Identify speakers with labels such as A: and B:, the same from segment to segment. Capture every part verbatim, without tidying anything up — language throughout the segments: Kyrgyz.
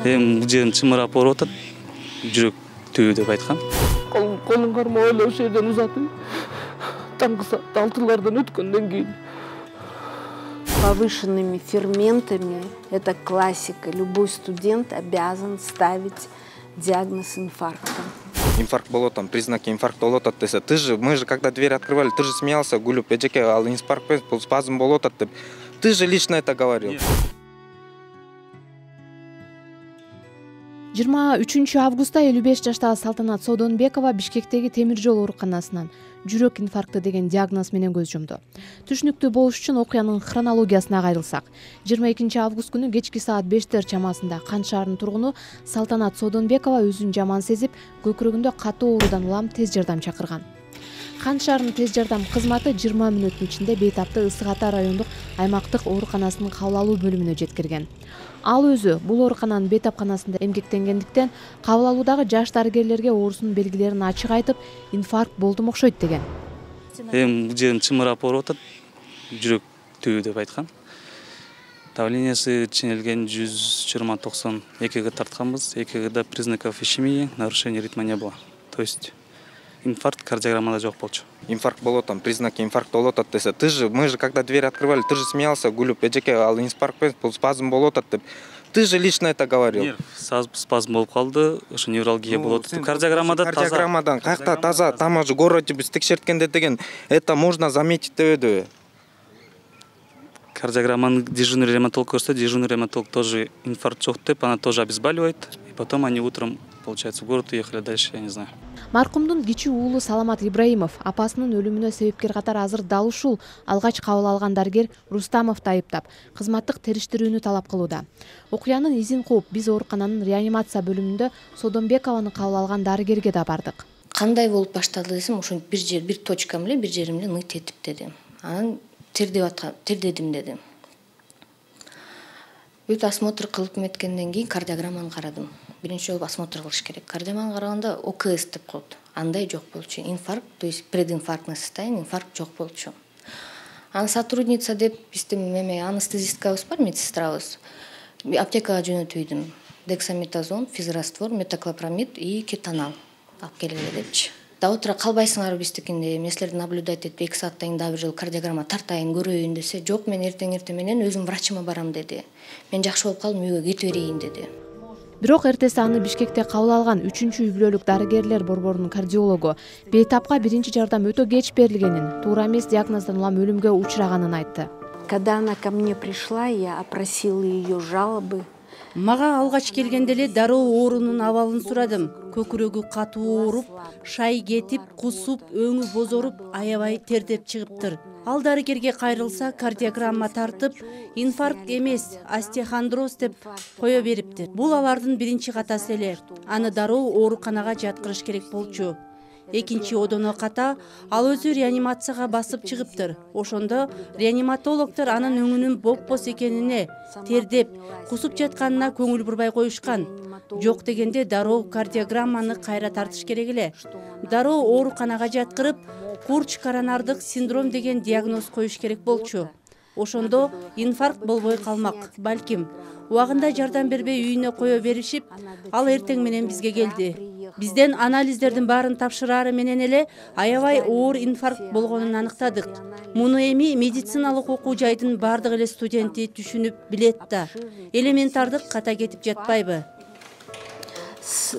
A: эми бул жерин чымырап ооруп атат, жүрөктүү деп айткан.
B: Колун кармап эле ошол жерден узатып, таңкы саат алтылардан өткөндөн кийин
C: повышенными ферментами, это классика. Любой студент обязан ставить диагноз инфаркта.
D: Инфаркт болот, там признаки инфаркта болот десе, ты же, мы же когда дверь открывали, ты же смеялся, гулюп, эжеке, ал инфаркт эмес, спазм болот деп. Ты же лично это говорил.
E: жыйырма үчүнчү августта элүү беш жаштагы Салтанат Содонбекова Бишкектеги темир жол ооруканасынан жүрөк инфаркты деген диагноз менен көз жумду. Түшүнүктүү болуш үчүн окуянын хронологиясына кайрылсак, жыйырма экинчи август күнү кечки саат бештер чамасында Кан шаарынын тургуну Салтанат Содонбекова өзүн жаман сезип, көкүрөгүндө катуу оорудан улам тез жардам чакырган. Кан шаарынын тез жардам кызматы жыйырма мүнөттүн ичинде Бейтапты Ысык Ата райондук аймактык ооруканасынын кабыл алуу бөлүмүнө жеткирген. Ал өзү бул оорукананын Бейтапканасында эмгектенгендиктен кабыл алуудагы жаш дарыгерлерге оорусунун белгилерин ачык айтып, инфаркт болдум окшойт деген.
A: Эми бул жерин чымырап ооруп атат, жүрөктүү деп айткан. Давлениясы ченелген жүз жыйырма токсон экиге тартканбыз, экигде признаков ишемии, нарушение ритма не было. То есть инфаркт кардиограммада жок болчу.
D: Инфаркт болот, там признаки инфаркта болот десе, ты же, мы же когда дверь открывали, ты же смеялся, гулюп, эжеке, ал инфаркт эмес, спазм болот деп. Ты же лично это говорил.
A: Спазм болуп калды, ошо невралгия болот. Кардиограммада таза.
D: Кардиограммадан кайякта таза, там уже город биз текшерткенде деген, это можно заметить дебеди.
A: Кардиограмманы дежурный реаниматолог көрсө, дежурный реаниматолог тоже инфаркт жок деп, она тоже обезболивает. И потом они утром, получается, в город уехали дальше, я не знаю.
E: Маркумдун кичүү уулу Саламат Ибраимов апасынын өлүмүнө себепкер катары азыр дал ушул алгач кабыл алган дарыгер Рустамовду айыптап, кызматтык териштирүүнү талап кылууда. Окуянын изин кууп, биз оорукананын реанимация бөлүмүндө Содонбекованы кабыл алган дарыгерге да бардык.
F: Кандай болуп баштады десем, ошо бир жер, бир точкам эле, бир жеримде ныть этип деди. Анан тердеп аткан, тердедим деди. Бүт осмотр кылып меткенден кийин кардиограмманы карадым. Биринчи жолу осмотр кылыш керек. Кардиограмманы караганда ОКС деп коет. Андай жок болчу. Инфаркт, то есть прединфарктный состояние, инфаркт жок болчу. Анын сотрудница деп биздин эме анестезисткабыз бар, медсестрабыз. Аптекага жөнөтүйдүм. Дексаметазон, физраствор, метоклопрамид и кетонал алып келгиле депчи. Да отура калбайсыңарбы биздикинде, эмне силерди наблюдать этип эки сааттан кийин дагы бир жолу кардиограмма тартайын, көрөйүн десе, жок, мен эртең эртең менен өзүм врачыма барам деди. Мен жакшы болуп калдым, үйгө кете берейин деди.
E: Бирок эртеси аны Бишкекте кабыл алган үчүнчү үй бүлөлүк дарыгерлер борборунун кардиологу Бейтапка биринчи жардам өтө кеч берилгенин, туура эмес диагноздон улам өлүмгө учураганын айтты.
C: Когда она ко мне пришла, я опросила ее жалобы.
G: Мага алгач келгенде эле дароо оорунун абалын сурадым. Көкүрөгү катуу ооруп, шай кетип, кусуп, өңү бозоруп, аябай тердеп чыгыптыр. Ал дарыгерге кайрылса, кардиограмма тартып, инфаркт эмес, остеохондроз деп кое бериптир. Бул алардын биринчи катасы эле. Аны дароо ооруканага жаткырыш керек болчу. Экинчи одоно ката, ал өзү реанимацияга басып чыгыптыр. Ошондо реаниматологдор анын өңүнүн бопбос экенине, тердеп, кусуп жатканына көңүл бурбай коюшкан. Жок дегенде дароо кардиограмманы кайра тартыш керек эле. Дароо ооруканага жаткырып, курч коронардык синдром деген диагноз коюш керек болчу. Ошондо инфаркт болбой калмак, балким. Убагында жардам бербей үйүнө кое беришип, ал эртең менен бизге келди. Бизден анализдердин баарын тапшырары менен эле аябай оор инфаркт болгонун аныктадык. Муну эми медициналык окуу жайдын бардык эле студенти түшүнүп билет да. Элементардык ката кетип жатпайбы?
C: С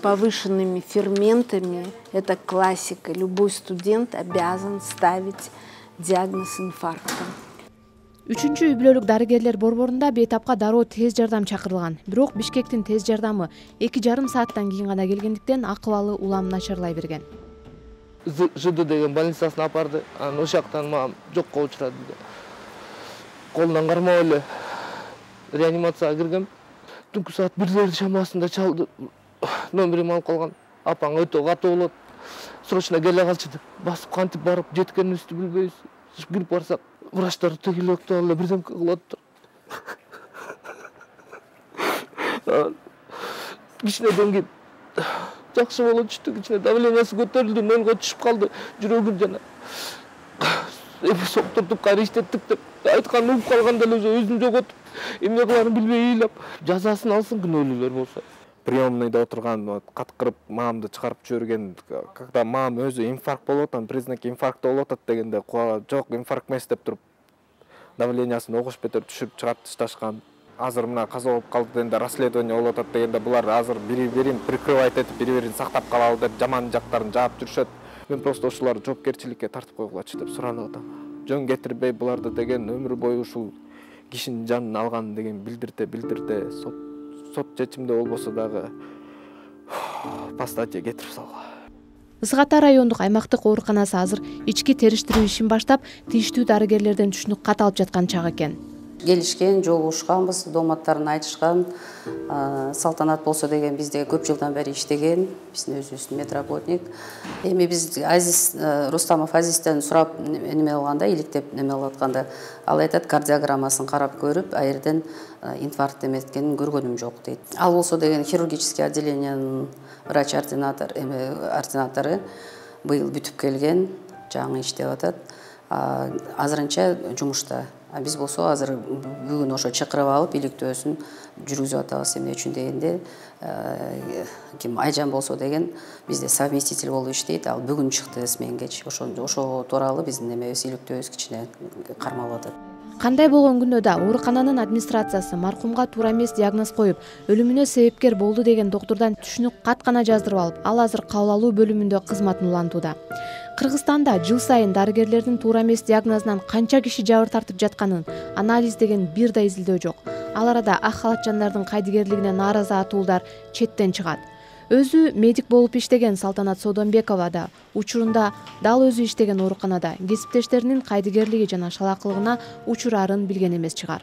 C: повышенными ферментами, это классика. Любой студент обязан ставить диагноз инфаркта.
E: Үчүнчү үй бүлөлүк дарыгерлер борборунда Бейтапка дароо тез жардам чакырылган. Бирок Бишкектин тез жардамы эки жарым сааттан кийин гана келгендиктен акыбалы улам начарлай берген.
B: ЖД деген больницасына апарды. Анан ошол жактан мага жокко учурады. Колунан кармап эле реанимацияга киргем. Түнкү саат бирлердин шамасында чалды. Номерим алып калган. Апаң өтө катуу болот. Срочно келе калчы деп басып кантип барып жеткенибизди билбейбиз. Кирип барсак, врачтар тегилектеп эле бирдемке кылып атат. Кичинеден кийин жакшы болот түштү, кичине давлениясы көтөрүлдү, нөлгө түшүп калды, жүрөгүм жана эми соктуртуп кайра иштеттик деп айтканын угуп калганда эле уже өзүн жоготуп, эмне кыларын билбей ыйлап, жазасын алсын күнөөлүүлөр болсо. Приемныйда отурган каткырып маамды чыгарып жиберген, когда маам өзү инфаркт болуп атат, признаки инфаркта болуп атат дегенде жок, инфаркт эмес деп туруп давлениясын огуш бетер түшүрүп чыгарып ташташкан. Азыр мына каза болуп калды дегенде расследование болуп атат дегенде булар азыр бири-бирин прикрывать этип, бири-бирин сактап калалы деп жаман жактарын жаап жүрүшөт. Мен просто ушуларды жоопкерчиликке тартып койгулачы деп суранып атам. Жөн кетирбей буларды деген өмүр бою ушул кишинин жанын алган деген билдирте билдирте сот сот чечимде болбосо дагы по статье кетирип салгыла.
E: Ызы Ата райондук аймактык ооруканасы азыр ички териштирүү ишин баштап, тийиштүү дарыгерлерден түшүнүк кат алып жаткан чак экен.
H: Келишкен, жолугушканбыз, дооматтарын айтышкан. Салтанат болсо деген бизде көп жылдан бери иштеген, биздин өзүбүздүн медработник. Эми биз Азиз Рустамов Азизден сурап неме алганда, иликтеп неме алып атканда, ал айтат, кардиограммасын карап көрүп, а жерден инфаркт эметкенин көргөнүм жок дейт. Ал болсо деген хирургический отделениянын врач-ординатор, эми ординатору быйыл бүтүп келген, жаңы иштеп атат. Азырынча жумушта. А биз болсо азыр бүгүн ошо чакырып алып, иликтөөсүн жүргүзүп атабыз. Эмне үчүн дегенде, ким Айжан болсо деген бизде совместитель болуп иштейт. Ал бүгүн чыкты сменгечи. Ошо ошо тууралуу биздин эмебиз, иликтөөбүз кичине кармалып атат.
E: Кандай болгон күндө да оорукананын администрациясы маркумга туура эмес диагноз коюп, өлүмүнө себепкер болду деген доктурдан түшүнүк кат гана жаздырып алып, ал азыр кабыл алуу бөлүмүндө кызматын улантууда. Кыргызстанда жыл сайын дарыгерлердин туура эмес диагнозунан канча киши жабыр тартып жатканын анализ деген бир да изилдөө жок. Ал арада ак халатчандардын кайдыгерлигине нааразы атуулдар четтен чыгат. Өзү медик болуп иштеген Салтанат Содонбекова да учурунда дал өзү иштеген ооруканада кесиптештеринин кайдыгерлиги жана шалакылыгына учурарын билген эмес чыгар.